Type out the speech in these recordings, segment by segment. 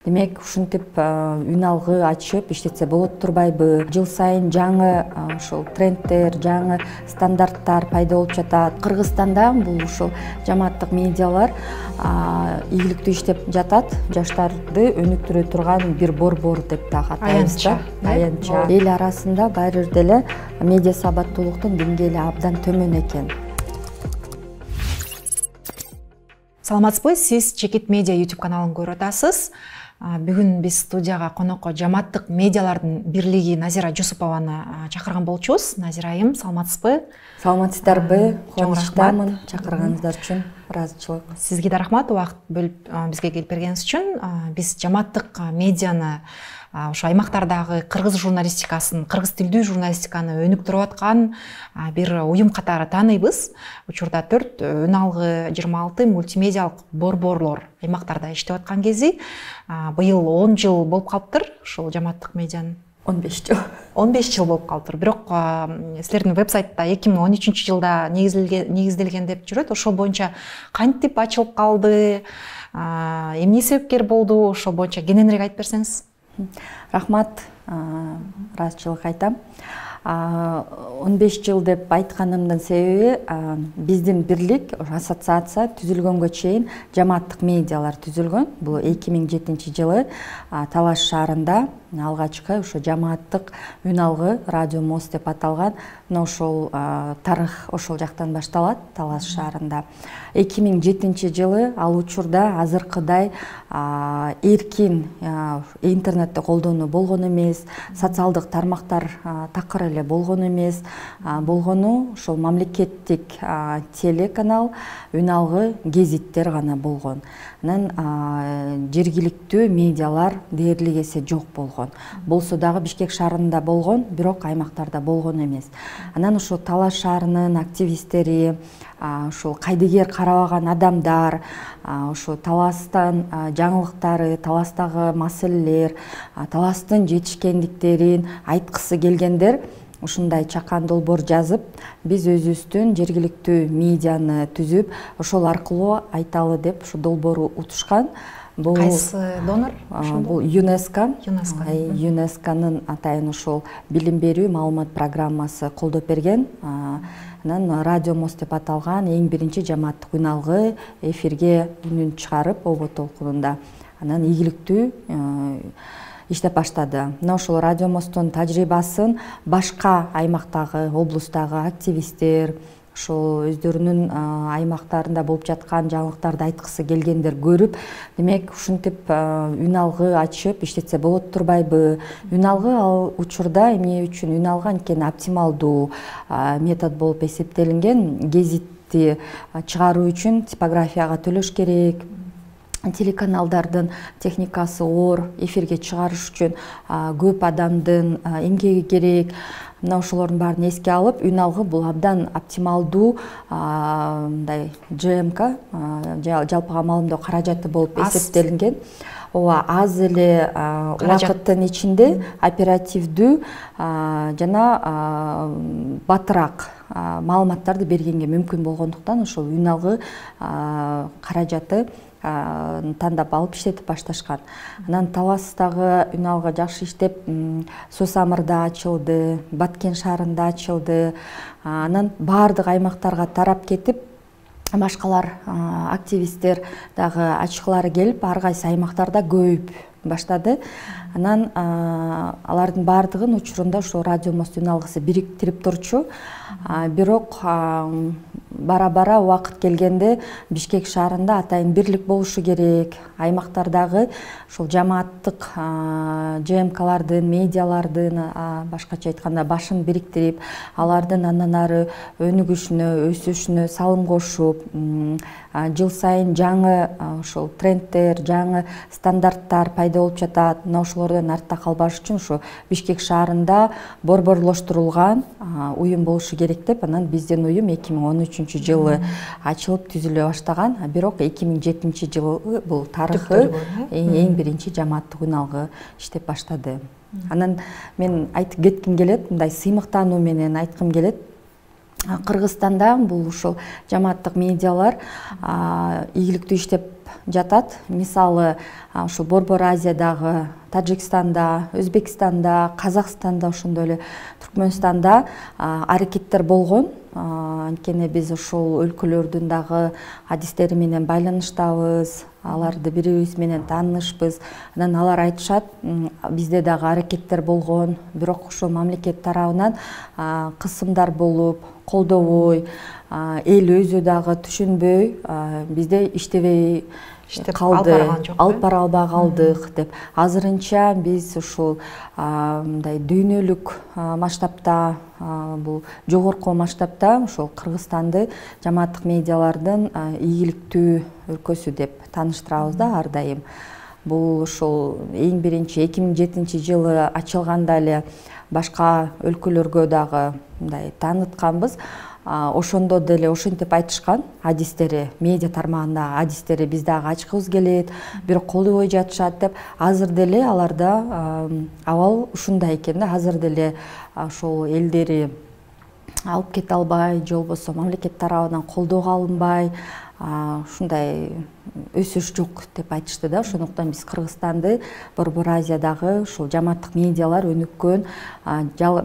Демек ушинтип үн алгы ачып иштетсе болот турбайбы? Жыл сайын жаңы ушул трендтер, жаңы стандарттар пайда болуп жатат. Кыргызстанда бул ушул жамааттык медиалар ийгиликтүү иштеп жатат. Жаштарды өнүктүрө турган бир борбор деп дагы атайбыз да. Аянча. Эл арасында баары бир деле медиа сабаттуулуктун деңгээли абдан төмөн экен. Саламатсызбы, сиз Чекит медиа YouTube каналын көрүп атасыз. Бүгүн биз студияга конокко жамааттык медиалардын бирлиги Назира Жусупованы чакырган болчубуз. Назира айым, саламатсызбы? Саламатсыздарбы? Кубанычтамын чакырганыңыздар үчүн. Ыраазычылык. Сизге да рахмат, убакыт бөлүп бизге келип бергениңиз үчүн. Биз жамааттык медианы ошо аймактардагы кыргыз журналистикасын, кыргыз тилдүү журналистиканы өнүктүрүп аткан бир уюм катары тааныйбыз. Учурда 4 өн алгы 26 мультимедиалык борборлор аймактарда иштеп аткан кези быйыл 10 жыл болуп калыптыр ушул жамааттык медианын. 15 жыл. 15 жыл болуп калыптыр. Бирок силердин вебсайтта 2013-жылда негизделген деп жүрөт. Ошол боюнча кантип ачылып калды? Эмне себепкер болду? Ошол боюнча кененирээк айтып берсеңиз. Рахмат, ыраазычылык айтам. 15 жыл деп айтканымдын себеби биздин бирлик, ассоциация түзүлгөнгө чейин жамааттык медиалар түзүлгөн. Бул 2007-жылы Талаш шаарында алгачкы ошо жамааттык үн алгы радио мост деп аталган. Ошол тарых ошол жактан башталат, Талаш шаарында. 2007-жылы ал учурда азыркыдай эркин интернетти колдонуу болгон эмес, социалдык тармактар такыр эле болгон эмес. Болгону ошол мамлекеттик телеканал, үн алгы гезиттер гана болгон. Анан жергиликтүү медиалар дээрлик эсе жок болгон. Болсо дагы Бишкек шаарында болгон, бирок аймактарда болгон эмес. Анан ошо Талаш шаарынын активисттери, ошол кайдыгер карабаган адамдар, ошо Таластан жаңылыктары, Таластагы маселелер, Таластын жетишкендиктерин айткысы келгендер ушундай чакан долбоор жазып, биз өзүбүздүн жергиликтүү медианы түзүп, ошол аркылуу айталы деп ушу долбоору утушкан. Кайсы донор? Бул ЮНЕСКО. ЮНЕСКОнун атайын ошол билим берүү маалымат программасы колдоп берген. Анан радио мост деп аталган эң биринчи жамааттык үн алгы эфирге үнүн чыгарып, обо толкунунда. Анан ийгиликтүү иштеп баштады. Мына ошол радио мосттун тажрыйбасын башка аймактагы, облустагы активисттер, ошол өздөрүнүн аймактарында болуп жаткан жаңылыктарды айткысы келгендер көрүп, демек ушинтип үн алгы ачып иштетсе болот турбайбы? Үн алгы ал учурда эмне үчүн үн алгы анткени оптималдуу метод болуп эсептелинген. Гезитти чыгаруу үчүн типографияга төлөш керек. Телеканалдардын техникасы оор, эфирге чыгарыш үчүн көп адамдын эмгеги керек. Мына ошолордун баарын эске алып, үн алгы бул абдан оптималдуу мындай ЖМК, жалпыга маалымдоо каражаты болуп эсептелинген. Ооба, аз эле убакыттын ичинде оперативдүү жана батыраак маалыматтарды бергенге мүмкүн болгондуктан ошол үн алгы каражаты тандап алып иштетип башташкан. Анан Таластагы үн алгы жакшы иштеп, Сусамырда ачылды, Баткен шаарында ачылды. Анан баардык аймактарга тарап кетип, башкалар активисттер дагы ачкылары келип, ар кайсы аймактарда көбөйүп баштады. Анан алардын баардыгын учурунда ошо радио мост үн алгысы бириктирип турчу. Бирок бара-бара убакыт келгенде Бишкек шаарында атайын бирлик болушу керек. Аймактардагы ошол жамааттык ЖМКлардын, медиалардын, башкача айтканда башын бириктирип, алардын андан ары өнүгүшүнө, өсүшүнө салым кошуп, жыл сайын жаңы ошол трендтер, жаңы стандарттар пайда болуп жатат. Мына ошолордон артта калбаш үчүн ошо Бишкек шаарында борборлоштурулган уюм болушу керек деп, анан биздин уюм 2013-жылы ачылып түзүлө баштаган. Бирок 2007-жылы бул тарыхы эң биринчи жамааттык үн алгы иштеп баштады. Анан мен айтып кетким келет, мындай сыймыктануу менен айткым келет. Кыргызстанда бул ушул жамааттык медиалар ийгиликтүү иштеп жатат. Мисалы ошо Борбор Азиядагы Тажикстанда, Өзбекстанда, Казакстанда, ошондой эле Түркмөнстанда аракеттер болгон. Анткени биз ошол өлкөлөрдүн дагы адистери менен байланыштабыз, аларды бири-бирибиз менен таанышпыз. Анан алар айтышат, бизде дагы аракеттер болгон, бирок ошо мамлекет тарабынан кысымдар болуп, колдобой, эл өзү дагы түшүнбөй, бизде иштебей калды, алып бара албай калдык деп. Азырынча биз ушул мындай дүйнөлүк масштабта, бул жогорку масштабта ошол Кыргызстанды жамааттык медиалардын ийгиликтүү өлкөсү деп тааныштырабыз да ар дайым. Бул ошол эң биринчи 2007-жылы ачылганда эле башка өлкөлөргө дагы мындай таанытканбыз. Ошондо деле ошентип айтышкан адистери, медиа тармагында адистери биз дагы ачкыбыз келет, бирок колдобой жатышат деп. Азыр деле аларда абал ушундай экен да. Азыр деле ошол элдери алып кете албай, же болбосо мамлекет тарабынан колдоого алынбай, ушундай өсүш жок деп айтышты да. Ошондуктан биз Кыргызстанды Борбор Азиядагы ушул жамааттык медиалар өнүккөн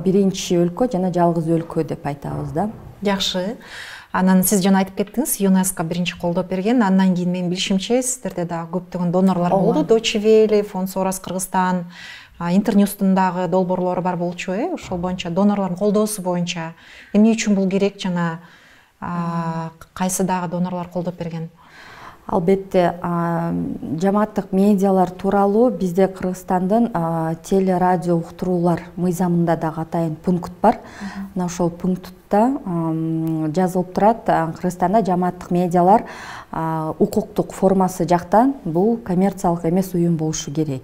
биринчи өлкө жана жалгыз өлкө деп айтабыз да. Жакшы. Анан сиз жана айтып кеттиңиз, ЮНЕСКО биринчи колдоп берген. Андан кийин менин билишимче сиздерде дагы көптөгөн донорлор болду. Deutsche Welle, Фонд Сорос Кыргызстан, Интерньюстун дагы долбоорлору бар болчу, ошол боюнча донорлордун колдоосу боюнча эмне үчүн бул керек жана кайсы дагы донорлор колдоп берген? Албетте, жамааттык медиалар тууралуу бизде Кыргызстандын теле радио уктуруулар мыйзамында дагы атайын пункт бар. Мына ошол пунктта жазылып турат, Кыргызстанда жамааттык медиалар укуктук формасы жактан бул коммерциялык эмес уюм болушу керек.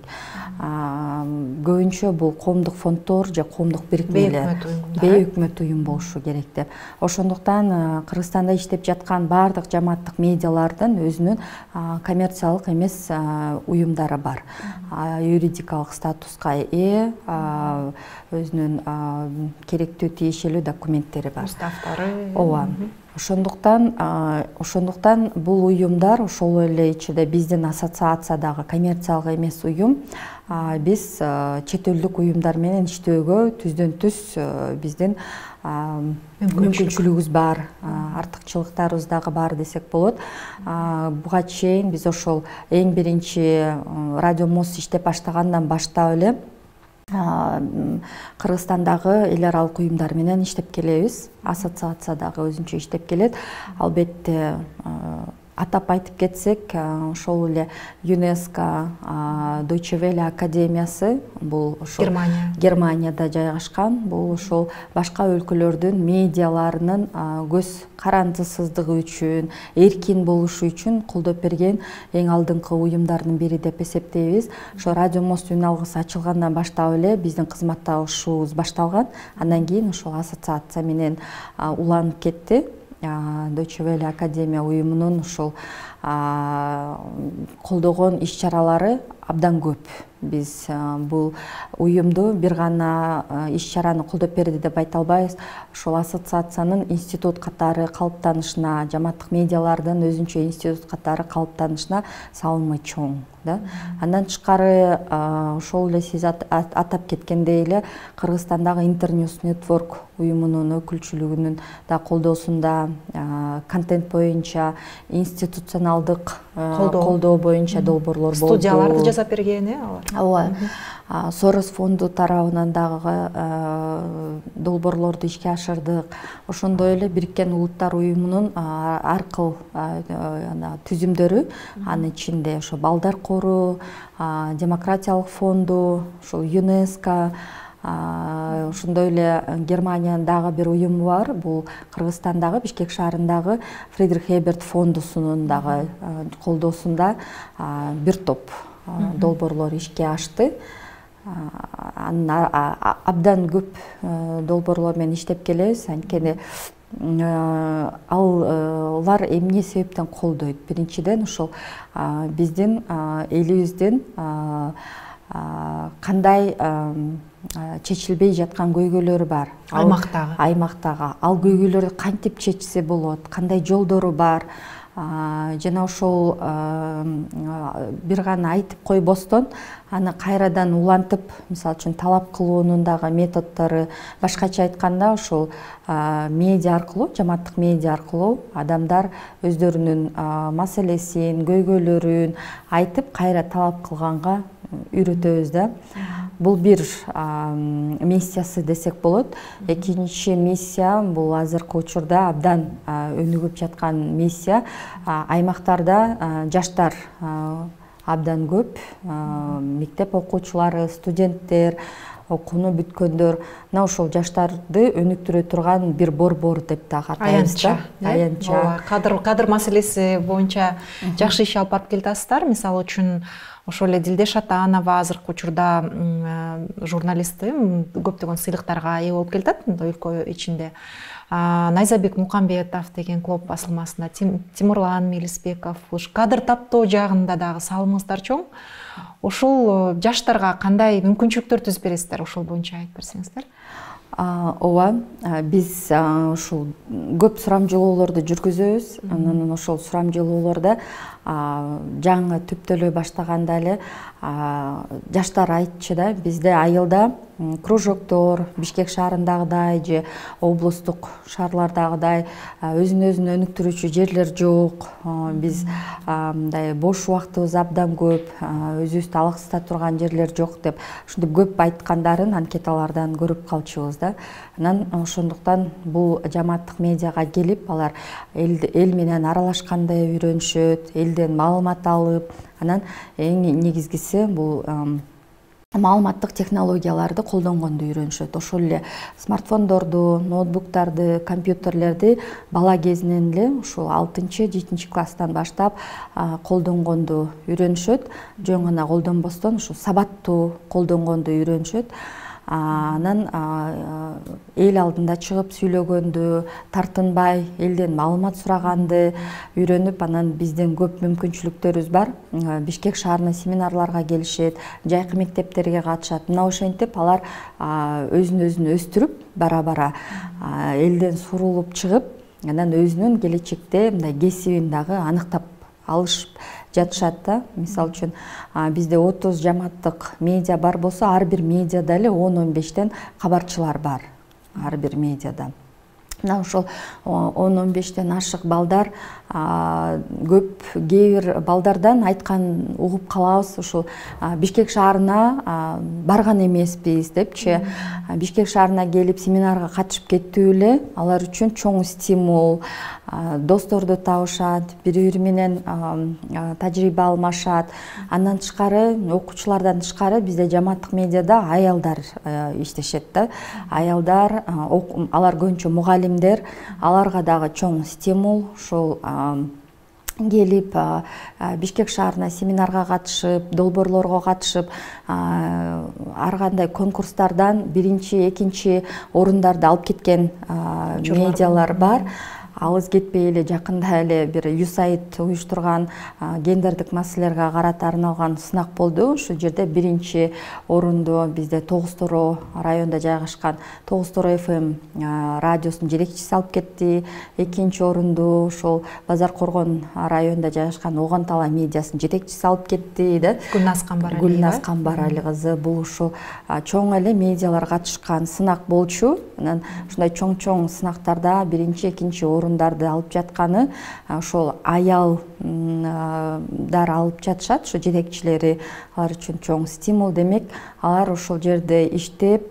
Көбүнчө бул коомдук фонддор же коомдук бирикмелер, бейөкмөт уюм болушу керек деп. Ошондуктан Кыргызстанда иштеп жаткан баардык жамааттык медиалардын өзүнүн коммерциялык эмес уюмдары бар. Юридикалык статуска ээ, өзүнүн керектүү тиешелүү документтери бар. Уставдары. Ооба. Ошондуктан бул уюмдар ошол эле ичинде биздин ассоциациядагы коммерциялык эмес уюм, биз чет элдик уюмдар менен иштөөгө түздөн түз биздин мүмкүнчүлүгүбүз бар, артыкчылыктарыбыз дагы бар десек болот. Буга чейин биз ошол эң биринчи Радио МОЗ иштеп баштагандан баштап эле Кыргызстандагы эл аралык уюмдар менен иштеп келебиз. Ассоциация дагы өзүнчө иштеп келет. Албетте атап айтып кетсек, ошол эле ЮНЕСКО, Deutsche Welle академиясы, бул ошол Германияда жайгашкан, бул ошол башка өлкөлөрдүн медиаларынын көз карандысыздыгы үчүн, эркин болушу үчүн колдоп берген эң алдыңкы уюмдардын бири деп эсептейбиз. Ошо Радио МОЗ үналгысы ачылгандан баштап эле биздин кызматташуубуз башталган. Андан кийин ошол ассоциация менен уланып кетти. Deutsche Welle академия уюмунун ошол колдогон иш-чаралары абдан көп. Биз бул уюмду бир гана иш-чараны колдоп берди деп айта албайбыз. Ошол ассоциациянын институт катары калыптанышына, жамааттык медиалардын өзүнчө институт катары калыптанышына салымы чоң да. Андан тышкары ошол эле сиз атап кеткендей эле Кыргызстандагы Интерньюс Network уюмунун өкүлчүлүгүнүн да колдоосунда контент боюнча институционалдык колдоо боюнча долбоорлор болду. Студияларды жасап берген, алар. Ооба. Сорос фонду тарабынан дагы долбоорлорду ишке ашырдык. Ошондой эле Бириккен Улуттар уюмунун ар кыл түзүмдөрү, анын ичинде ошо Балдар кору, Демократиялык фонду, ошол ЮНЕСКО, ошондой эле Германиянын дагы бир уюму бар. Бул Кыргызстандагы Бишкек шаарындагы Фридрих Эберт фондусунун дагы колдоосунда бир топ долбоорлор ишке ашты. Абдан көп долбоорлор менен иштеп келебиз. Анткени алар эмне себептен колдойт? Биринчиден ошол биздин элибиздин кандай чечилбей жаткан көйгөйлөрү бар аймактагы. Ал көйгөйлөрдү кантип чечсе болот? Кандай жолдору бар? жана ошол бир гана айтып койбостон аны кайрадан улантып, мисалы үчүн талап кылуунун дагы методдору, башкача айтканда ошол медиа аркылуу, жамааттык медиа аркылуу адамдар өздөрүнүн маселесин, көйгөйлөрүн айтып, кайра талап кылганга үйрөтөбүз да. Бул бир миссиясы десек болот. Экинчи миссия бул азыркы учурда абдан өнүгүп жаткан миссия. Аймактарда жаштар абдан көп, мектеп окуучулары, студенттер, окууну бүткөндөр, мына ошол жаштарды өнүктүрө турган бир борбор деп дагы атайбыз да. Аянтча. Кадр маселеси боюнча жакшы иш алып барып келатасыздар. Мисалы үчүн ошол эле Дилдеш Атанова азыркы учурда журналисти көптөгөн сыйлыктарга ээ болуп келатат өлкө ичинде. Найзабек Мукамбетов деген клуб басылмасында, Тимурлан Мелисбеков, кадр таптоо жагында дагы салымыңыздар чоң. Ошол жаштарга кандай мүмкүнчүлүктөр түзүп бересиздер? Ошол боюнча айтып берсеңиздер. Ооба, биз ушул көп сурамжылоолорду жүргүзөбүз. Анан ошол сурамжылоолордо жаңы түптөлө баштаганда эле жаштар айтчу да, бизде айылда кружоктор Бишкек шаарындагыдай же облустук шаарлардагыдай өзүн өнүктүрүүчү жерлер жок. Биз мындай бош убактыбыз абдан көп, өзүбүздү алаксыта турган жерлер жок деп ушинтип көп айткандарын анкеталардан көрүп калчубуз да. Анан ошондуктан бул жамааттык медиага келип, алар эл менен аралашканды үйрөнүшөт, элден маалымат алып, анан эң негизгиси бул маалыматтык технологияларды колдонгонду үйрөнүшөт. Ошол эле смартфондорду, ноутбуктарды, компьютерлерди бала кезинен эле ушул 6-7 класстан баштап колдонгонду үйрөнүшөт. Жөн гана колдонбостон ушу сабаттуу колдонгонду үйрөнүшөт. Анан эл алдында чыгып сүйлөгөндү, тартынбай элден маалымат сураганды үйрөнүп, анан биздин көп мүмкүнчүлүктөрүбүз бар. Бишкек шаарына семинарларга келишет, жайкы мектептерге катышат. Мына ошентип алар өзүн өстүрүп, бара-бара элден сурулуп чыгып, анан өзүнүн келечекте мындай кесибин дагы аныктап алышып жатышат да. Мисалы үчүн бизде 30 жамааттык медиа бар болсо, ар бир медиада эле 10-15тен кабарчылар бар. Ар бир медиада. Мына ошол 10-15тен ашык балдар көп, кээ бир балдардан айткан угуп калабыз, ушул Бишкек шаарына барган эмеспиз депчи. Бишкек шаарына келип семинарга катышып кеттүү эле алар үчүн чоң стимул. Досторду табышат, бири-бири менен тажрыйба алмашат. Андан тышкары, окуучулардан тышкары бизде жамааттык медиада аялдар иштешет да. Аялдар, алар көбүнчө мугалимдер, аларга дагы чоң стимул. Ошол келип Бишкек шаарына семинарга катышып, долбоорлорго катышып, ар кандай конкурстардан биринчи, экинчи орундарды алып кеткен медиалар бар. Алыс кетпей эле жакында эле бир USAID уюштурган гендердик маселелерге карата арналган сынак болду. Ушул жерде биринчи орунду бизде Тогуз Тороо районунда жайгашкан Тогуз Тороо FM радиосунун жетекчиси алып кетти. Экинчи орунду ошол Базар Коргон районунда жайгашкан Оган Тала медиасынын жетекчиси алып кетти да. Гүлназ Камбарали кызы. Бул ушул чоң эле медиалар катышкан сынак болчу. Анан ушундай чоң сынактарда биринчи, экинчи орундарды алып жатканы ошол аялдар алып жатышат, ошо жетекчилери. Алар үчүн чоң стимул. Демек, алар ошол жерде иштеп,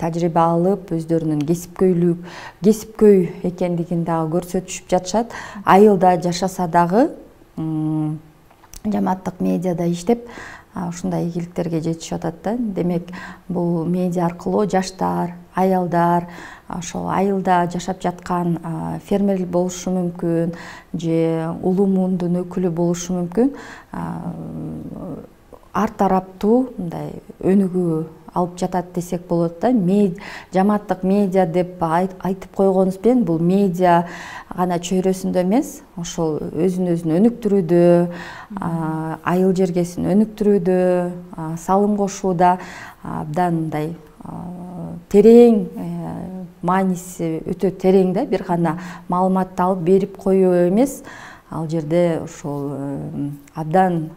тажрыйба алып, өздөрүнүн кесипкөй экендигин дагы көрсөтүшүп жатышат. Айылда жашаса дагы жамааттык медиада иштеп ушундай ийгиликтерге жетишип атат да. Демек, бул медиа аркылуу жаштар, аялдар, ошол айылда жашап жаткан фермер болушу мүмкүн, же улуу муундун өкүлү болушу мүмкүн, ар тараптуу мындай өнүгүү алып жатат десек болот да. Жамааттык медиа деп айтып койгонубуз менен бул медиа гана чөйрөсүндө эмес, ошол өзүн өнүктүрүүдө, айыл жергесин өнүктүрүүдө, салым кошууда абдан мындай терең, мааниси өтө терең да. Бир гана маалыматты алып берип коюу эмес, ал жерде ошол абдан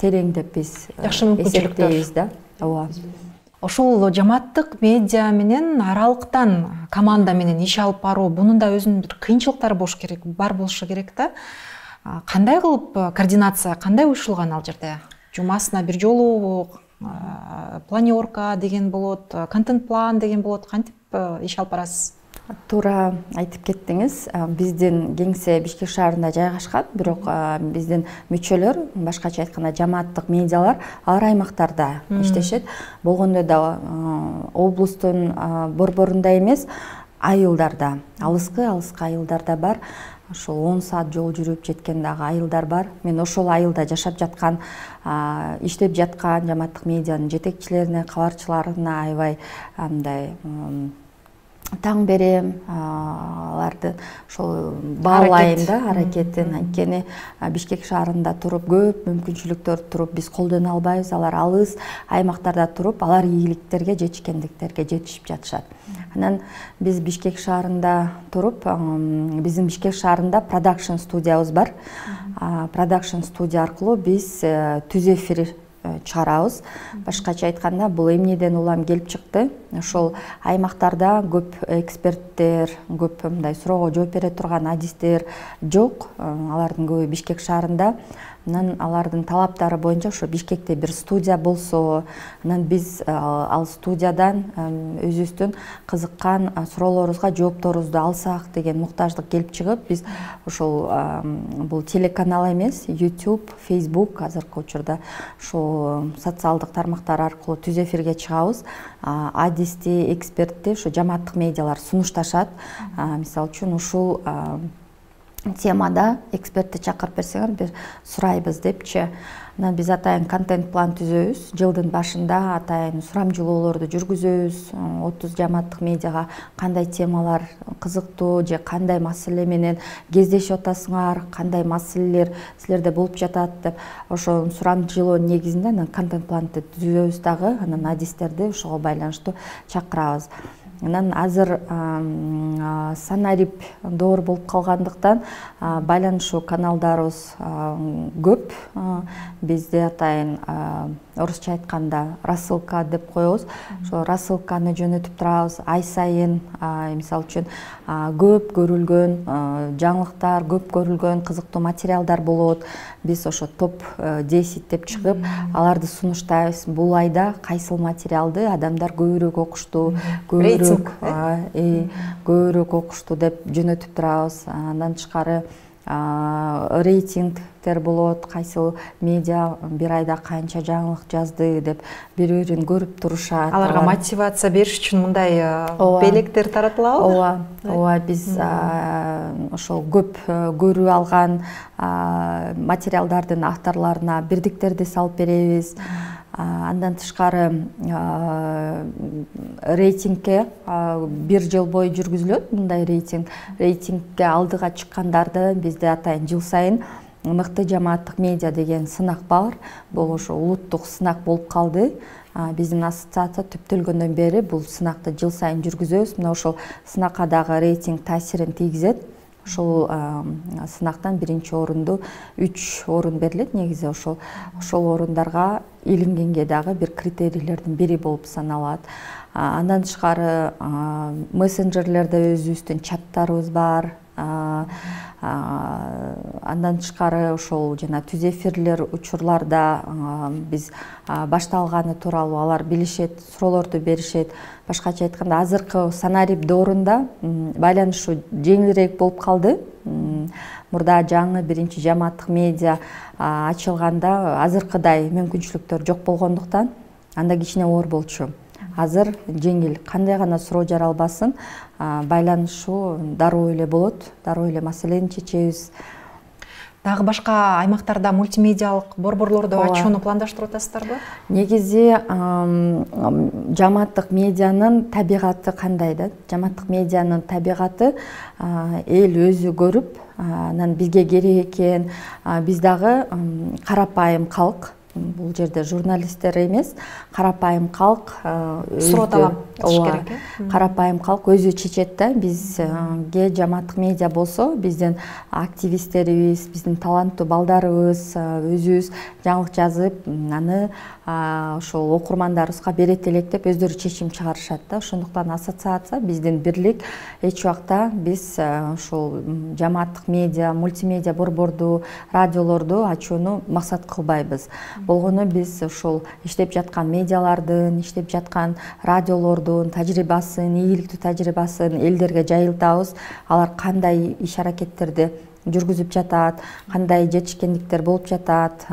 терең деп биз жакшы мүмкүнчүлүктөр да. Ооба. Ошол жамааттык медиа менен аралыктан команда менен иш алып баруу, бунун да өзүнүн бир кыйынчылыктары бар болушу керек да. Кандай кылып координация, кандай уюшулган ал жерде? Жумасына бир жолу планерка деген болот, контент план деген болот. Кантип иш алып барасыз? Туура айтып кеттиңиз. Биздин кеңсе Бишкек шаарында жайгашкан, бирок биздин мүчөлөр, башкача айтканда жамааттык медиалар ар аймактарда иштешет. Болгондо да облустун борборунда эмес, айылдарда, алыскы айылдарда бар. Ошол 10 саат жол жүрүп жеткен дагы айылдар бар. Мен ошол айылда жашап жаткан, иштеп жаткан жамааттык медианын жетекчилерине, кабарчыларына аябай андай таң берем, аларды ошол баалайм да аракетин. Анткени Бишкек шаарында туруп көп мүмкүнчүлүктөр туруп биз колдоно албайбыз. Алар алыс аймактарда туруп, алар ийгиликтерге, жетишкендиктерге жетишип жатышат. Анан биз Бишкек шаарында туруп, биздин Бишкек шаарында продакшн студиябыз бар. Продакшн студия аркылуу биз түз эфир чыгарабыз. Башкача айтканда, бул эмнеден улам келип чыкты? Ошол аймактарда көп эксперттер, көп мындай суроого жооп бере турган адистер жок. Алардын көбү Бишкек шаарында. Анан алардын талаптары боюнча ошо Бишкекте бир студия болсо, анан биз ал студиядан өзүбүздүн кызыккан суроолорубузга жоопторубузду алсак деген муктаждык келип чыгып, биз ошол бул телеканал эмес, YouTube, Facebook азыркы учурда ошол социалдык тармактар аркылуу түз эфирге чыгабыз. Адисти, экспертти ошо жамааттык медиалар сунушташат. Мисалы үчүн ушул темада экспертти чакырып берсеңер, бир сурайбыз депчи. Анан биз атайын контент план түзөбүз. Жылдын башында атайын сурамжылоолорду жүргүзөбүз. 30 жамааттык медиага кандай темалар кызыктуу же кандай маселе менен кездешип атасыңар, кандай маселелер силерде болуп жатат деп ошол сурамжылоо негизинде анан контент планды түзөбүз дагы. Анан адистерди ошого байланыштуу чакырабыз. Анан азыр санарип доор болуп калгандыктан байланышуу каналдарыбыз көп. Бизде атайын орусча айтканда рассылка деп коебуз. Ошо рассылканы жөнөтүп турабыз. Ай сайын, мисалы үчүн, көп көрүлгөн жаңылыктар, көп көрүлгөн кызыктуу материалдар болот. Биз ошо топ 10 деп чыгып, аларды сунуштайбыз. Бул айда кайсыл материалды адамдар көбүрөөк окушту, көбүрөөк окушту деп жөнөтүп турабыз. Андан тышкары рейтингтер болот, кайсыл медиа бир айда канча жаңылык жазды деп бири-бирин көрүп турушат. Аларга мотивация бериш үчүн мындай белектер таратылабы? Ооба, биз ошол көп көрүү алган материалдардын авторлоруна бирдиктерди салып беребиз. Андан тышкары рейтингке бир жыл бою жүргүзүлөт. Мындай рейтингке алдыга чыккандарды бизде атайын жыл сайын мыкты жамааттык медиа деген сынак бар. Бул ошо улуттук сынак болуп калды. Биздин ассоциация түптөлгөндөн бери бул сынакты жыл сайын жүргүзөбүз. Мына ошол сынакка дагы рейтинг таасирин тийгизет. Ошол сынактан биринчи орунду 3 орун берилет. Негизи ошол орундарга илингенге дагы бир критерийлердин бири болуп саналат. Андан тышкары мессенджерлерде өзүбүздүн чаттарыбыз бар. Андан тышкары ошол жана түз эфирлер учурларда биз башталганы тууралуу алар билишет, суроолорду беришет. Башкача айтканда, азыркы санарип доорунда байланышуу жеңилирээк болуп калды. Мурда жаңы биринчи жамааттык медиа ачылганда азыркыдай мүмкүнчүлүктөр жок болгондуктан анда кичине оор болчу. Азыр жеңил, кандай гана суроо жаралбасын, байланышуу дароо эле болот, дароо эле маселени чечебиз. Дагы башка аймактарда мультимедиалык борборлорду ачууну пландаштырып атасыздарбы? Негизи жамааттык медианын табигаты кандай да? Жамааттык медианын табигаты эл өзү көрүп, анан бизге керек экен. Биз дагы карапайым калк, бул жерде журналисттер эмес, карапайым калк суроо талап кылыш керек. Карапайым калк өзү чечет да. Бизге жамааттык медиа болсо, биздин активисттерибиз, биздин таланттуу балдарыбыз өзүбүз жаңылык жазып, аны ошол окурмандарыбызга берет элек деп өздөрү чечим чыгарышат да. Ошондуктан ассоциация, биздин бирлик эч убакта биз ошол жамааттык медиа, мультимедиа борборду, радиолорду ачууну максат кылбайбыз. Болгону биз ошол иштеп жаткан медиалардын, иштеп жаткан радиолордун тажрыйбасын, ийгиликтүү тажрыйбасын элдерге жайылтабыз. Алар кандай иш аракеттерди жүргүзүп жатат, кандай жетишкендиктер болуп жатат,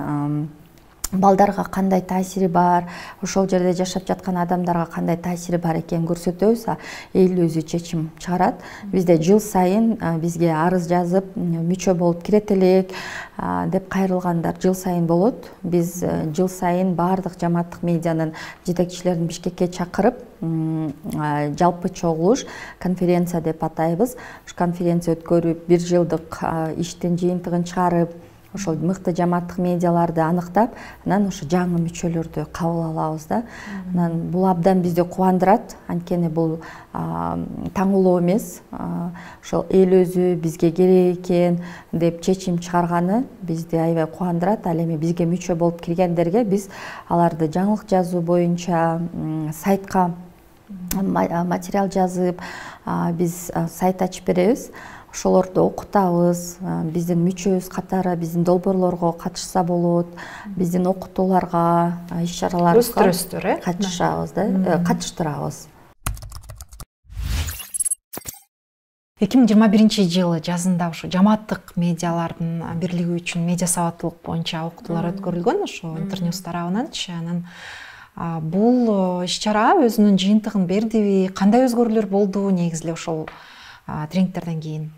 балдарга кандай таасири бар, ошол жерде жашап жаткан адамдарга кандай таасири бар экенин көрсөтөбүз. Эл өзү чечим чыгарат. Бизде жыл сайын бизге арыз жазып, мүчө болуп кирет элек деп кайрылгандар жыл сайын болот. Биз жыл сайын баардык жамааттык медианын жетекчилерин Бишкекке чакырып, жалпы чогулуш, конференция деп атайбыз. Ушу конференция өткөрүп, 1 жылдык иштин жыйынтыгын чыгарып, ошол мыкты жамааттык медиаларды аныктап, анан ошо жаңы мүчөлөрдү кабыл алабыз да. Анан бул абдан бизди кубандырат. Анткени бул таңылоо эмес, ошол эл өзү бизге керек экен деп чечим чыгарганы бизди аябай кубандырат. Ал эми бизге мүчө болуп киргендерге биз аларды жаңылык жазуу боюнча сайтка материал жазып, биз сайт ачып беребиз. Ошолорду окутабыз, биздин мүчөбүз катары биздин долбоорлорго катышса болот, биздин окутууларга, иш-чараларыбызга катышабыз да, катыштырабыз. 2021-жылы жазында ушу жамааттык медиалардын бирлиги үчүн медиа сабаттуулук боюнча окутуулар өткөрүлгөн, ошо Интерньюз тарабынанчы. Анан бул иш-чара өзүнүн жыйынтыгын бердиби? Кандай өзгөрүүлөр болду негизи эле ошол тренингтерден кийин?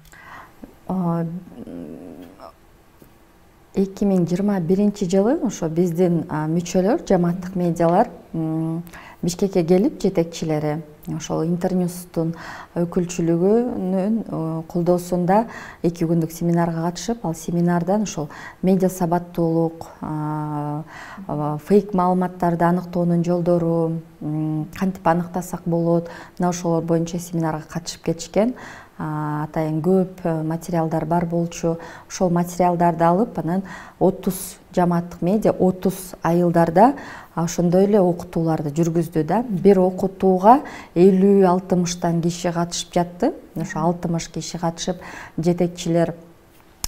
2021 жылы ошо биздин мүчөлөр, жамааттык медиалар Бишкекке келип, жетекчилери ошол Интерньюздун өкүлчүлүгүнүн колдоосунда 2 күндүк семинарга катышып, ал семинардан ошол медиа сабаттуулук, фейк маалыматтарды аныктоонун жолдору, кантип аныктасак болот, мына ошолор боюнча семинарга катышып кетишкен. Атайын көп материалдар бар болчу. Ошол материалдарды алып, анан 30 жамааттык медиа 30 айылдарда ошондой эле окутууларды жүргүздү да. Бир окутууга 50-60 киши катышып жатты. Ошо 60 киши катышып, жетекчилер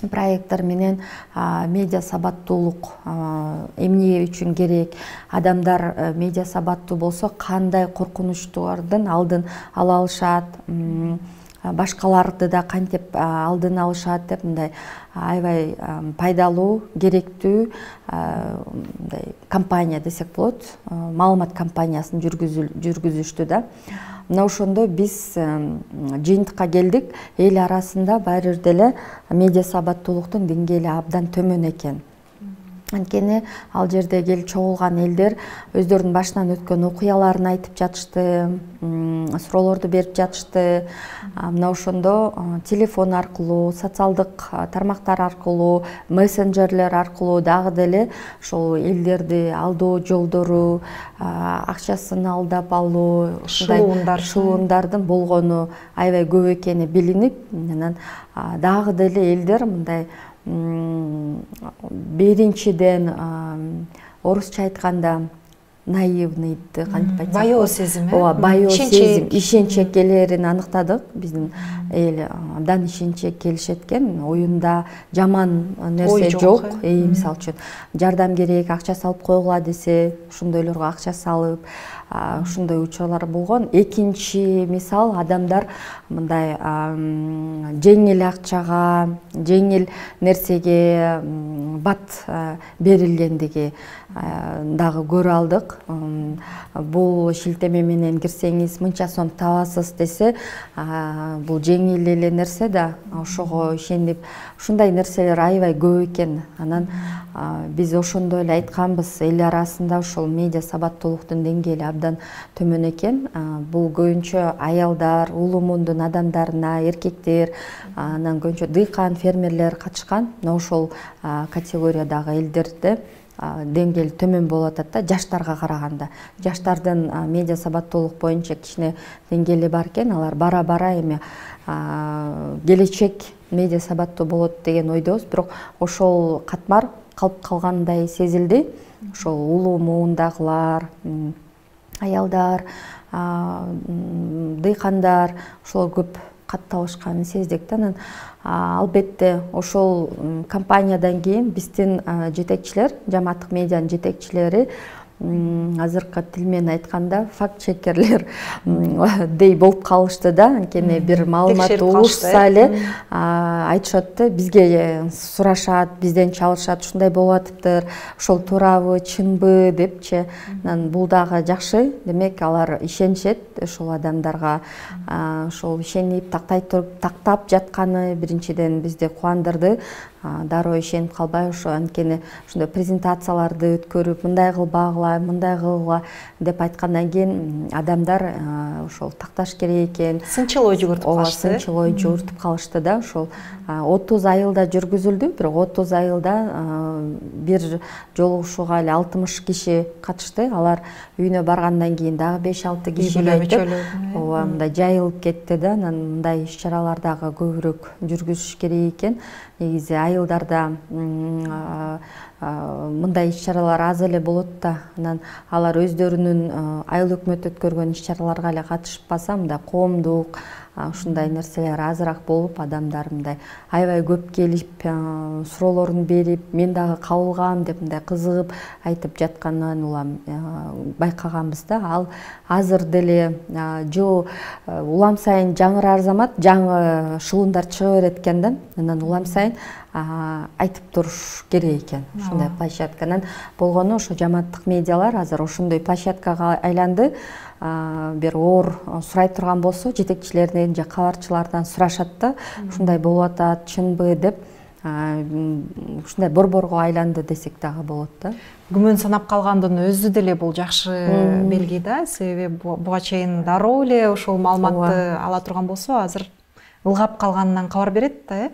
проекттер менен медиа сабаттуулук эмне үчүн керек, адамдар медиа сабаттуу болсо кандай коркунучтардын алдын ала алышат, башкаларды да кантип алдын алышат деп, мындай аябай пайдалуу, керектүү компания десек болот, маалымат компаниясын жүргүзүштү да. Мына ошондо биз жыйынтыкка келдик. Эл арасында баары бир деле медиа сабаттуулуктун деңгээли абдан төмөн экен. Анткени ал жерде келип чогулган элдер өздөрүнүн башынан өткөн окуяларын айтып жатышты, суроолорду берип жатышты. Мына ошондо телефон аркылуу, социалдык тармактар аркылуу, мессенджерлер аркылуу дагы деле ошол элдерди алдоо жолдору, акчасын алдап алуу, шылуундардын болгону аябай көп экени билинип, анан дагы деле элдер мындай биринчиден орусча айтканда наивныйды, кантип айтсак, баяу сезим, баяу сезим, ишенчек келерин аныктадык. Биздин эл абдан ишенчек келишет экен. Оюнда жаман нерсе жок. Мисалы үчүн жардам керек, акча салып койгула десе, ошондойлорго акча салып, ушундай учурлар болгон. Экинчи мисал, адамдар мындай жеңил акчага, жеңил нерсеге бат берилгендиги дагы көрө алдык. Бул шилтеме менен кирсеңиз мынча сом табасыз десе, бул жеңил эле нерсе да, ошого ишенип, ушундай нерселер аябай көп экен. Анан биз ошондой эле айтканбыз, эл арасында ошол медиа сабаттуулуктун деңгээли абдан төмөн экен. Бул көбүнчө аялдар, улуу-мундун адамдарына, эркектер, анан көбүнчө дыйкан, фермерлер катышкан. Ошол категориядагы элдерди деңгээли төмөн болуп атат да жаштарга караганда. Жаштардын медиа сабаттуулук боюнча кичине деңгээли бар экен. Алар бара эми келечек медиа сабаттуу болот деген ойдобуз. Бирок ошол катмар калып калгандай сезилди. Ошол улуу муундагылар, аялдар, дыйкандар ошол көп катталышканын сездик да. Албетте ошол компаниядан кийин биздин жетекчилер, жамааттык медианын жетекчилери азыркы тил менен айтканда факт-чекерлер дей болуп калышты да. Анткени бир маалымат угушса эле айтышат да, бизге сурашат, бизден чалышат, ушундай болуп атыптыр, ошол туурабы, чынбы депчи. Бул дагы жакшы. Демек алар ишенишет ошол адамдарга. Ошол ишенип тактап жатканы биринчиден бизди кубандырды. Дароо ишенип калбай, ошо анткени ушундай презентацияларды өткөрүп, мындай кылбагыла, мындай кылгыла деп айткандан кийин адамдар ошол такташ керек экен. Сынчыл ой жүгүртүп калышты. Сынчыл ой жүгүртүп калышты да. Ошол 30 айылда жүргүзүлдү, бирок 30 айылда бир жолугушууга эле 60 киши катышты. Алар үйүнө баргандан кийин дагы 5-6 кишиге айтып, ооба, мындай жайылып кетти да. Анан мындай иш-чаралар дагы көбүрөөк жүргүзүш керек экен. Негизи айылдарда мындай иш-чаралар аз эле болот да. Анан алар өздөрүнүн айыл өкмөт өткөргөн иш-чараларга эле катышпаса, мындай коомдук ушундай нерселер азыраак болуп, адамдар мындай аябай көп келип, суроолорун берип, мен дагы кабылгам деп мындай кызыгып айтып жатканын улам байкаганбыз да. Ал азыр деле жыл улам сайын жаңырар замат, жаңы шылымдар чыга берет экен да. Анан улам сайын айтып туруш керек экен ушундай площадканан болгону. Ошо жамааттык медиалар азыр ошондой площадкага айланды. Бир оор сурай турган болсо, жетекчилерден же кабарчылардан сурашат да, ушундай болуп атат, чынбы деп. Ушундай борборго айланды десек дагы болот да. Күмөн санап калгандын өзү деле бул жакшы белги да. Себеби буга чейин дароо эле ошол маалыматты ала турган болсо, азыр ылгап калганынан кабар берет да, э?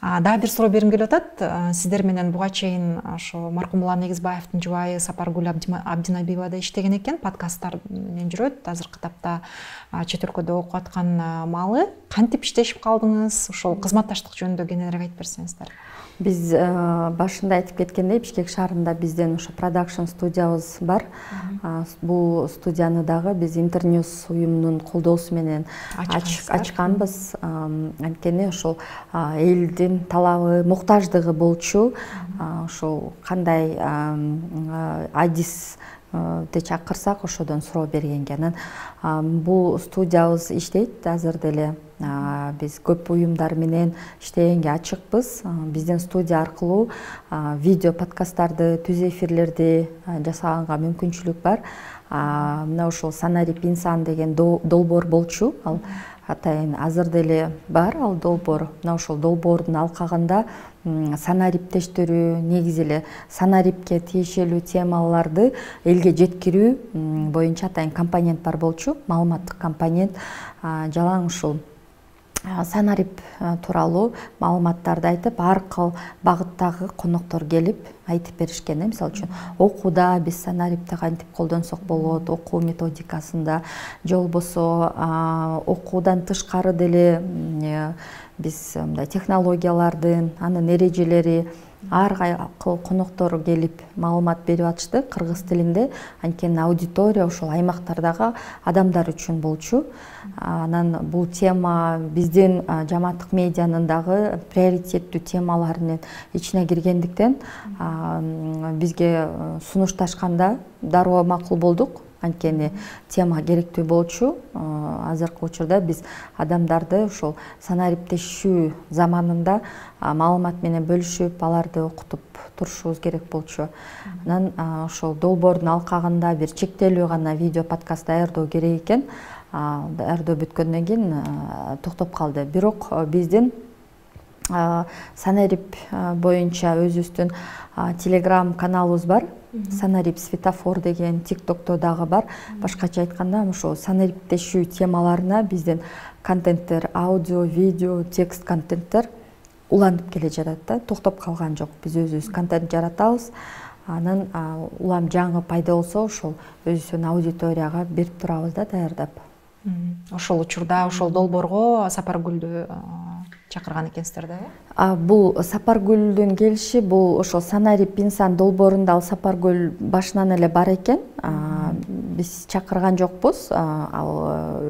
Дагы бир суроо бергим келип атат. Сиздер менен буга чейин ошо маркум Улан Негизбаевдин жубайы Сапаргүл Абдинабиева да иштеген экен, подкасттар менен жүрөт. Азыркы тапта чет өлкөдө окуп аткан маалы. Кантип иштешип калдыңыз? Ошол кызматташтык жөнүндө кененирээк айтып берсеңиздер. Биз башында айтып кеткендей, Бишкек шаарында бизден ошо продакшн студиябыз бар. Бул студияны дагы биз Интерньюз уюмунун колдоосу менен ачканбыз. Анткени ошол элдин талабы, муктаждыгы болчу. Ошол кандай адис де чакырсак ошодон суроо бергенге. Анан бул студиябыз иштейт азыр деле. Биз көп уюмдар менен иштегенге ачыкпыз. Биздин студия аркылуу видео подкасттарды, түз эфирлерди жасаганга мүмкүнчүлүк бар. Мына ошол Санарип инсан деген долбоор болчу. Ал атайын азыр деле бар ал долбоор. Мына ошол долбоордун алкагында санариптештирүү, негизи эле санарипке тиешелүү темаларды элге жеткирүү боюнча атайын компонент бар болчу. Маалыматтык компонент. Жалаң ушул санарип тууралуу маалыматтарды айтып, ар кыл багыттагы коноктору келип айтып беришкен. Мисалы үчүн окууда биз санарипти кантип колдонсок болот, окуу методикасында, же болбосо окуудан тышкары деле биз мындай технологиялардын, анын эрежелери, ар кайкыл коноктору келип маалымат берип атышты кыргыз тилинде. Анткени аудитория ошол аймактардагы адамдар үчүн болчу. Анан бул тема биздин жамааттык медианын дагы приоритеттүү темаларынын ичине киргендиктен бизге сунушташканда дароо макул болдук. Анткени тема керектүү болчу. Азыркы учурда биз адамдарды ошол санариптешүү заманында маалымат менен бөлүшүп, аларды окутуп турушубуз керек болчу. Анан ошол долбоордун алкагында бир чектелүү гана видео подкаст даярдоо керек экен. Даярдоо бүткөндөн кийин токтоп калды. Бирок биздин Санарип боюнча өзүбүздүн телеграм каналыбыз бар. Санарип светофор деген тиктокто дагы бар. Башкача айтканда, ошо санариптешүү темаларына биздин контенттер, аудио, видео, текст контенттер уланып келе жатат да, токтоп калган жок. Биз өзүбүз контент жаратабыз. анан улам жаңы пайда болсо ошол өзүбүздүн аудиторияга берип турабыз да, даярдап. Ошол учурда ошол долбоорго Сапаргүлдү чакырган экенсиздер да, э? Бул Сапаргүлдүн келиши, бул ошол Санари Пинсан долбоорунда ал Сапаргүл башынан эле бар экен. Биз чакырган жокпуз, ал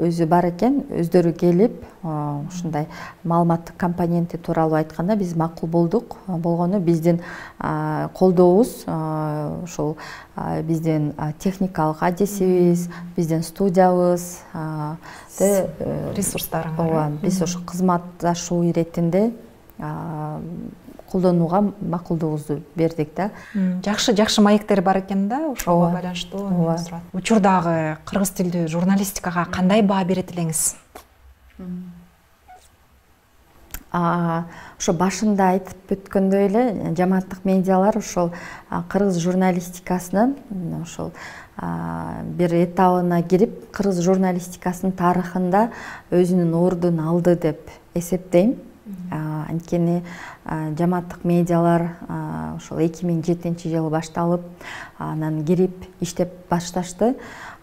өзү бар экен, өздөрү келип, ушундай маалыматтык компоненти тууралуу айтканда биз макул болдук. Болгону биздин колдообуз ошол биздин техникалык аддисибиз, биздин студиябыз, ресурстарыңар. Ооба, биз ошо кызматташуу иретинде колдонууга макулдугубузду бердик да. Жакшы маектер бар экен да, ошого байланыштуу. Учурдагы кыргыз тилдүү журналистикага кандай баа берет элеңиз? Ошо башында айтып өткөндөй эле, жамааттык медиалар ошол кыргыз журналистикасынын ошол бир этабына кирип, кыргыз журналистикасынын тарыхында өзүнүн ордун алды деп эсептейм. Анткени жамааттык медиалар ошол 2007-жылы башталып, анан кирип иштеп башташты.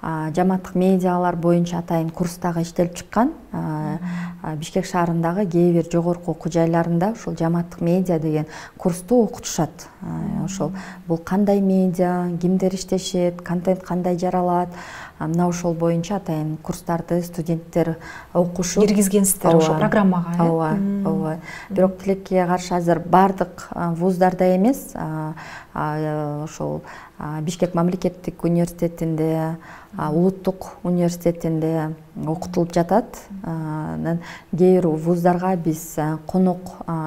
Жамааттык медиалар боюнча атайын курстагы иштелип чыккан. Бишкек шаарындагы кээ бир жогорку окуу жайларында ошол жамааттык медиа деген курсту окутушат. Ошол бул кандай медиа, кимдер иштешет, контент кандай жаралат, мына ошол боюнча атайын курстарды студенттер окушуп киргизгенсиздер ошол программага, э? Ооба. Бирок тилекке каршы азыр бардык вуздарда эмес, ошол Бишкек мамлекеттик университетинде, улуттук университетинде окутулуп жатат. Анан кээ бир вуздарга биз конок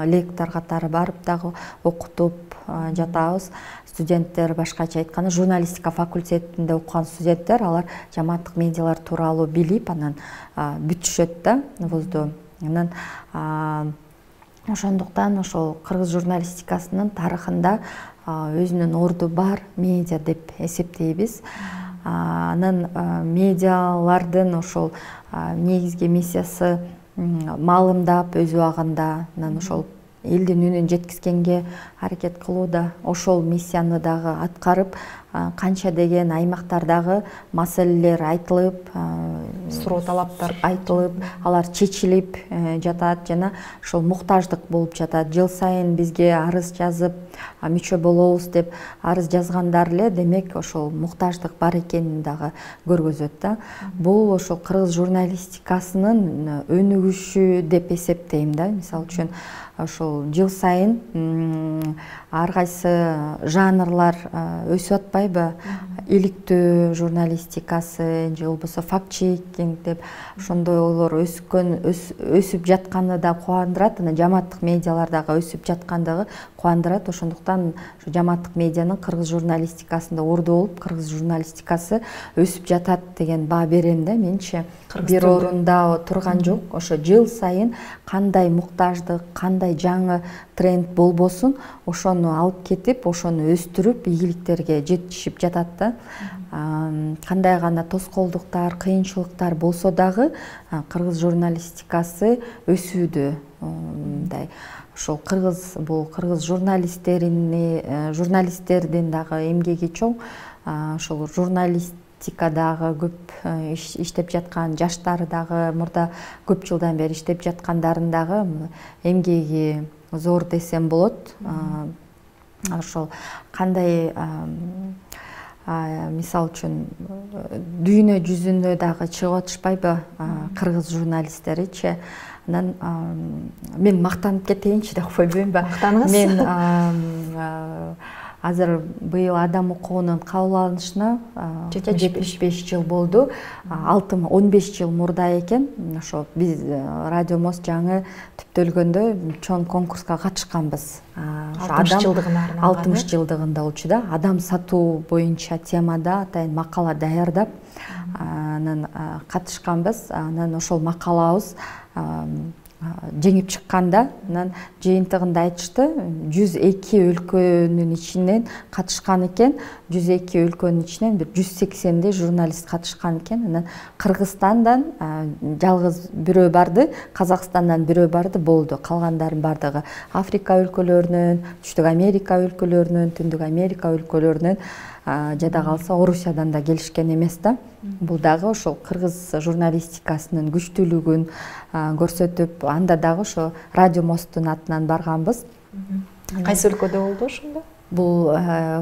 лектор катары барып дагы окутуп жатабыз. Студенттер, башкача айтканда, журналистика факультетинде окуган студенттер, алар жамааттык медиалар тууралуу билип, анан бүтүшөт да вузду. Анан ошондуктан ошол кыргыз журналистикасынын тарыхында өзүнүн орду бар медиа деп эсептейбиз. Анан медиалардын ошол негизги миссиясы маалымдап, өз убагында анан ошол элдин үнүн жеткизгенге аракет кылууда. Ошол миссияны дагы аткарып, канча деген аймактардагы маселелер айтылып, суроо талаптар айтылып, алар чечилип жатат жана ошол муктаждык болуп жатат. Жыл сайын бизге арыз жазып, мүчө болобуз деп арыз жазгандар эле, демек ошол муктаждык бар экенин дагы көргөзөт да. Бул ошол кыргыз журналистикасынын өнүгүшү деп эсептейм да. Мисалы үчүн ошол жыл сайын ар кайсы жанрлар өсүп атпайбы? Иликтөө журналистикасы же болбосо факт-чекинг деп ошондойлор өсүп жатканы да кубандырат. Анан жамааттык медиалар дагы өсүп жаткандыгы кубандырат. Ошондуктан жамааттык медианын кыргыз журналистикасында орду болуп, кыргыз журналистикасы өсүп жатат деген баа берем да. Менчи бир орунда турган жок. Ошо жыл сайын кандай муктаждык, кандай жаңы тренд болбосун, ошону алып кетип, ошону өстүрүп, ийгиликтерге жетишип жатат да. Кандай гана тоскоолдуктар, кыйынчылыктар болсо дагы кыргыз журналистикасы өсүүдө. Мындай ошол кыргыз журналисттердин дагы эмгеги чоң. Ошол журналистикадагы көп иштеп жаткан жаштар дагы, мурда көп жылдан бери иштеп жаткандардын дагы эмгеги зор десем болот. Ошол кандай мисалы үчүн дүйнө жүзүнө дагы чыгып атышпайбы кыргыз журналисттеричи. Анан мен мактанып кетейинчи деп койбоймбу? Мактаныгыз. Мен азыр быйыл Адам укугунун кабыл алынышына 75 жыл болду. 15 жыл мурда экен. Ошо биз Радио Мост жаңы түптөлгөндө чоң конкурска катышканбыз. 60 жылдыгында болчу да. Адам сатуу боюнча темада атайын макала даярдап, анан катышканбыз. Анан ошол макалабыз жеңип чыкканда, анан жыйынтыгында айтышты 102 өлкөнүн ичинен катышкан экен, 102 өлкөнүн ичинен бир 180 журналист катышкан экен. Анан Кыргызстандан жалгыз бирөө барды, Казакстандан бирөө барды, болду. Калгандардын бардыгы Африка өлкөлөрүнөн, Түштүк Америка өлкөлөрүнөн, Түндүк Америка өлкөлөрүнөн, жада калса Орусиядан да келишкен эмес да. Бул дагы ошол кыргыз журналистикасынын күчтүүлүгүн көрсөтүп, анда дагы ошо Радио Мосттун атынан барганбыз. Кайсы өлкөдө болду ошондо? Бул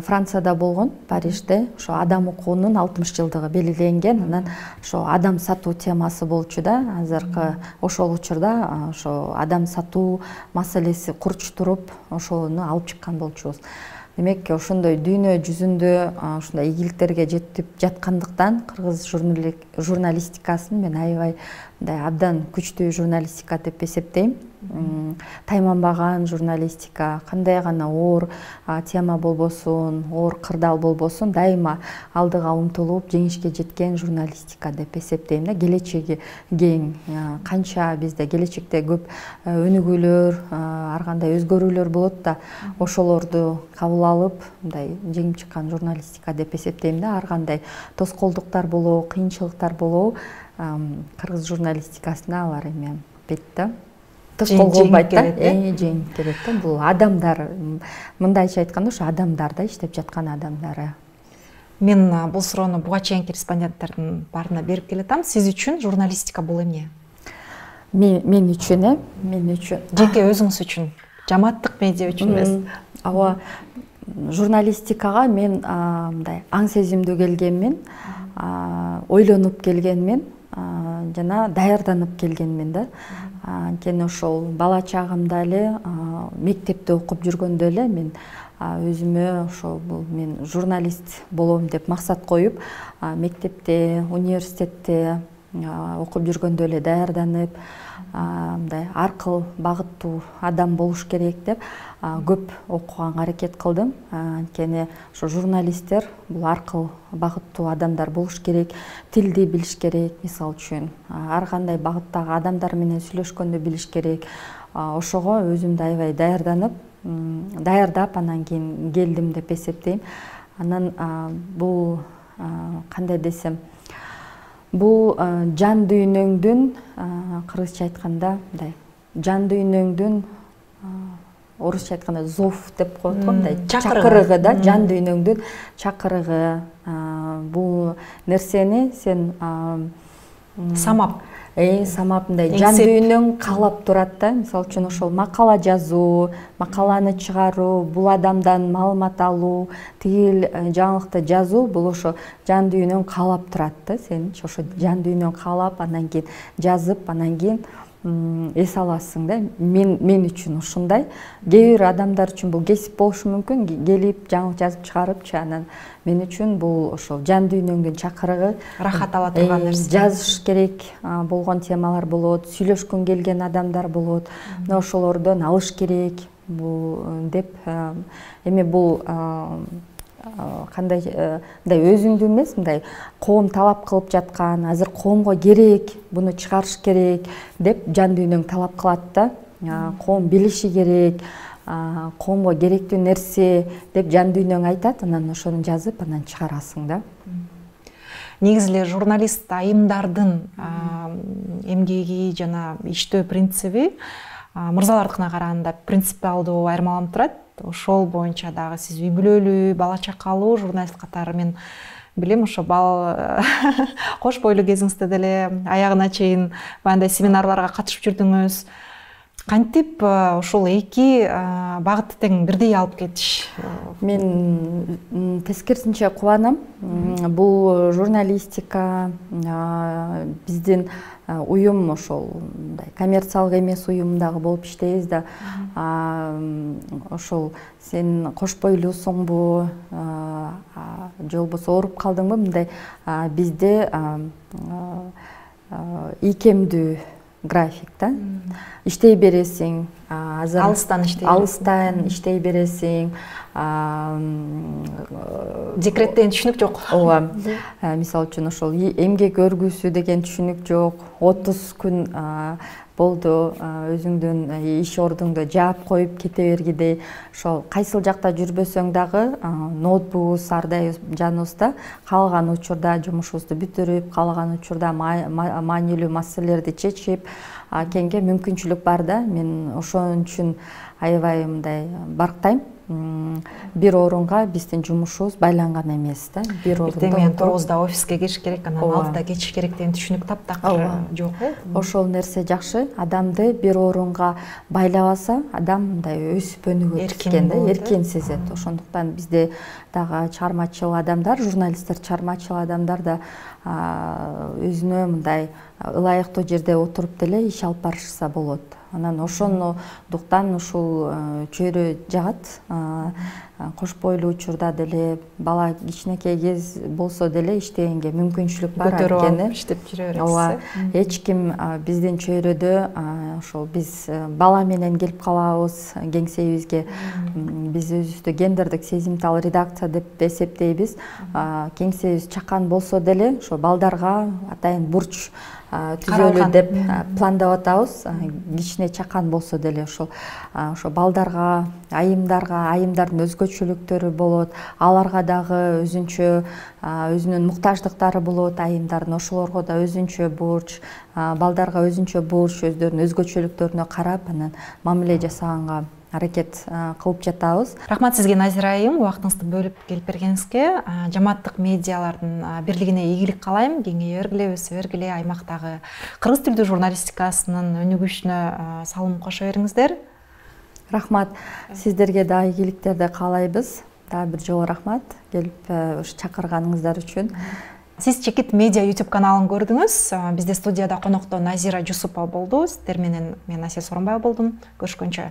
Францияда болгон, Парижде. Ошо адам укуунун 60 жылдыгы белгиленген. Анан ошо адам сатуу темасы болчу да. Азыркы ошол учурда ошо адам сатуу маселеси курчтуруп, ошону алып чыккан болчубуз. Демек, ошондой дүйнө жүзүндө ушундай ийгиликтерге жетип жаткандыктан кыргыз журналистикасын мен аябай мындай абдан күчтүү журналистика деп эсептейм. Тайманбаган журналистика, кандай гана оор тема болбосун, оор кырдаал болбосун, дайыма алдыга умтулуп жеңишке жеткен журналистика деп эсептейм да. Келечеги кең, канча бизде келечекте көп өнүгүүлөр, ар кандай өзгөрүүлөр болот да, ошолорду кабыл алып, мындай жеңип чыккан журналистика деп эсептейм да. Ар кандай тоскоолдуктар болобу, кыйынчылыктар болобу, кыргыз журналистикасына алар эме бет да. Жеңип келет да. Бул адамдар, мындайча айтканда, ошо адамдар да, иштеп жаткан адамдары. Мен бул суроону буга чейинки респонденттердин баарына берип келатам. Сиз үчүн журналистика бул эмне? Мен үчүн, мен үчүн. Жеке өзүңүз үчүн, жамааттык медиа үчүн эмес. Ооба, журналистикага мен мындай аң сезимдүү келгенмин, ойлонуп келгенмин, жана даярданып келгенмин да. Анткени ошол бала чагымда эле мектепте окуп жүргөндө эле мен өзүмө ошо мен журналист болом деп максат коюп, мектепте, университетте окуп жүргөндө эле даярданып, мындай аркыл багыттуу адам болуш керек деп көп окуганга аракет кылдым. Анткени ошо журналисттер бул аркыл багыттуу адамдар болуш керек, тилди билиш керек, мисалы үчүн ар кандай багыттагы адамдар менен сүйлөшкөндү билиш керек. Ошого өзүмдү аябай даярдап анан кийин келдим деп эсептейм. Анан бул кандай десем, бул жан дүйнөңдүн, кыргызча айтканда мындай жан дүйнөңдүн, орусча айтканда зов деп коет го, мындай чакырыгы да, жан дүйнөңдүн чакырыгы. Бул нерсени сен самап мындай жан дүйнөң каалап турат да. Мисалы үчүн ошол макала жазуу, макаланы чыгаруу, бул адамдан маалымат алуу, тигил жаңылыкты жазуу, бул ошо жан дүйнөң каалап турат да. Сен ошо жан дүйнөң каалап, анан кийин жазып, анан кийин эс аласың да. Мен үчүн ушундай. Кээ бир адамдар үчүн бул кесип болушу мүмкүн, келип жаңылык жазып чыгарыпчы. Анан мен үчүн бул ошол жан дүйнөңдүн чакырыгы, рахат ала турган нерсе. Жазыш керек болгон темалар болот, сүйлөшкүң келген адамдар болот. Мына ошолордон алыш керек бул деп эми бул кандай мындай өзүңдү эмес, мындай коом талап кылып жаткан, азыр коомго керек, буну чыгарыш керек деп жан дүйнөң талап кылат да. Коом билиши керек, коомго керектүү нерсе деп жан дүйнөң айтат, анан ошону жазып, анан чыгарасың да. Негизи эле журналист айымдардын эмгеги жана иштөө принциби мырзалардыкына караганда принципиалдуу айырмаланып турат. Ошол боюнча дагы сиз үй бүлөлүү, бала чакалуу журналист катары мен билем, ошо кош бойлуу кезиңизде деле аягына чейин баягындай семинарларга катышып жүрдүңүз. Кантип ушул эки багытты тең бирдей алып кетиш? Мен тескерисинче кубанам. Бул журналистика биздин уюм ошол мындай коммерциялык эмес уюм дагы болуп иштейбиз да. Ошол сен кош бойлуусуңбу, же болбосо ооруп калдыңбы, мындай бизде ийкемдүү график да. Иштей бересиң, алыстан иштей бересиң. Декреттен түшүнүк жок. Ооба. Мисалы үчүн ошол эмгек өргүүсү деген түшүнүк жок. 30 күн болду, өзүңдүн иш ордуңду жаап коюп кете бергидей, ошол кайсыл жакта жүрбөсөң дагы ноутбугубуз ар дайым жаныбызда, каалаган учурда жумушубузду бүтүрүп, каалаган учурда маанилүү маселелерди чечип кеңге мүмкүнчүлүк бар да. Мен ошон үчүн аябай мындай барктайм. Бир орунга биздин жумушубуз байланган эмес да. Бир орунда мен 9-да офиске кириш керек, анан 6-да кетиш керек деген түшүнүк таптакыр жок. Ошол нерсе жакшы. Адамды бир орунга байлабаса, адам мындай өсүп өнүгөт экен да, эркин сезет. Ошондуктан бизде дагы чыгармачыл адамдар, журналисттер, чыгармачыл адамдар да өзүнө мындай ылайыктуу жерде отуруп деле иш алып барышса болот. Анан ошондуктан ушул чөйрө жагат. Кош бойлуу учурда деле, бала кичинекей кез болсо деле иштегенге мүмкүнчүлүк бар экен. Иштеп жүрө бересиз. Эч ким биздин чөйрөдө ошол биз бала менен келип калабыз кеңсебизге. Биз өзүбүздү гендердик сезимтал редакция деп эсептейбиз. Кеңсебиз чакан болсо деле ошо балдарга атайын бурч түзөлүү деп пландап атабыз. Кичине чакан болсо деле ошо балдарга, айымдардын өзгөчөлүктөрү болот. Аларга дагы өзүнчө өзүнүн муктаждыктары болот, айымдардын ошолорго да өзүнчө бурч, балдарга өзүнчө бурч, өздөрүнүн өзгөчөлүктөрүнө карап анан мамиле жасаганга аракет кылып жатабыз. Рахмат сизге, Назира айым, убактыңызды бөлүп келип бергениңизге. Жамааттык медиалардын бирлигине ийгилик каалайм. Кеңейе бергиле, өсө бергиле, аймактагы кыргыз тилдүү журналистикасынын өнүгүшүнө салым кошо бериңиздер. Рахмат. Сиздерге да ийгиликтерди каалайбыз. Дагы бир жолу рахмат келип чакырганыңыздар үчүн. Сиз Чекит медиа YouTube каналын көрдүңүз. Бизде студияда конокто Назира Жусупова болду. Сиздер менен мен Асель Сооронбаева болдум. Көрүшкөнчө.